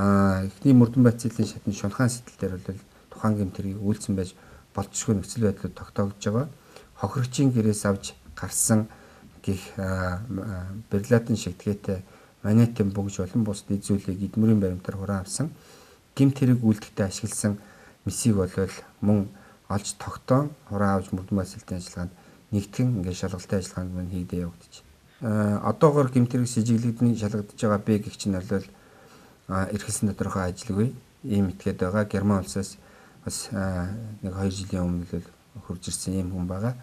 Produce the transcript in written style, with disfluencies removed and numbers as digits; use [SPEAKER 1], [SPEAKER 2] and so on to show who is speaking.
[SPEAKER 1] эхний мөрдөн байцлын шатны шунхаан сэтэл дээр бол тухайн гэмтэрийг үйлцэн байж болцсохгүй нөхцөл байдлууд тогтоогдож байгаа. Хохирогчийн гэрээс авч гарсан гих берлатын шигтгээтэй манетын бөгж болон бус дэд зүйлийг эдмүрийн баримтаар хураан авсан гэмт хэрэг үйлдэхтэй ашигласан месийг бол мөн олж тогтоон хураан авч мөрдөн байцлын ажиллагаанд нэгтгэн ингээд шалгалтын ажиллагаанд мөн хийгдэж явагдаж. Одоогоор гэмт хэрэг сэжиглэгдэн шалгагдж байгаа бэ гэх чинь бол эрхэлсэн тодорхой ажилгүй ийм итгээд байгаа. Герман улсаас бас нэг 2 жилийн өмнө л хурж ирсэн ийм хүн байгаа.